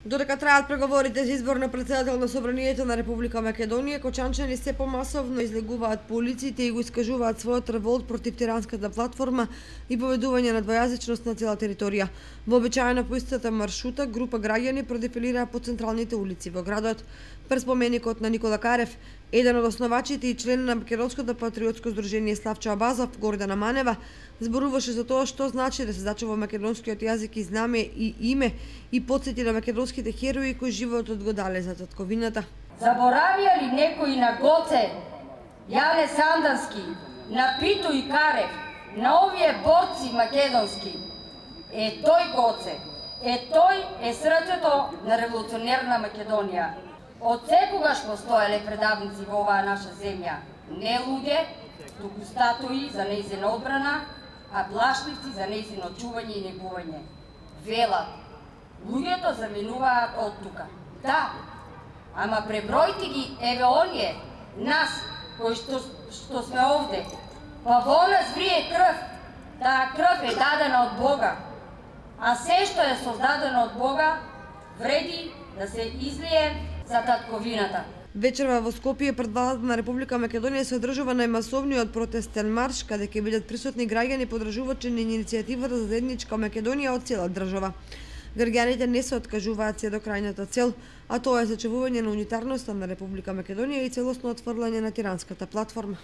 Додека траат преговорите за избор на претседател на Собранието на Република Македонија, кочанчани се помасовно излегуваат по улиците и го искажуваат својот револт против тиранската платформа и поведување на двојазичност на цела територија. Вообичаено по истата маршрута, група граѓани продефилираа по централните улици во градот. Пред споменикот на Никола Карев, еден од основачите и член на Македонското патриотско здружение Славчо Абазов, Гордана Манева, зборуваше за тоа што значи да се зачува македонскиот јазик и знаме и име и потсети на македонските херои кои животот го дале за татковината. Заборавија ли некој на Гоце, Јане Сандански, на Пито и Карев, на овие борци македонски? Тој Гоце, тој е срцето на револуционерна Македонија. Од секогаш постоеле предавници во оваа наша земја, не луѓе, туку статуи за нејзина одбрана, а плашливци за нејзино чување и негување. Велат, луѓето заминуваат од тука. Да, ама пребројте ги, еве оние, нас, кои што сме овде, па во нас врие крв. Таа крв е дадена од Бога, а се што е создадено од Бога, вреди да се излие за татковината. Вечерва во Скопје пред владата на Република Македонија се одржува најмасовниот протестен марш, каде ќе бидат присутни граѓани подржувачи на иницијативата за заедничка Македонија од цела држава. Граѓаните не се откажуваат се до крајната цел, а тоа е зачувување на унитарноста на Република Македонија и целосно отфрлање на тиранската платформа.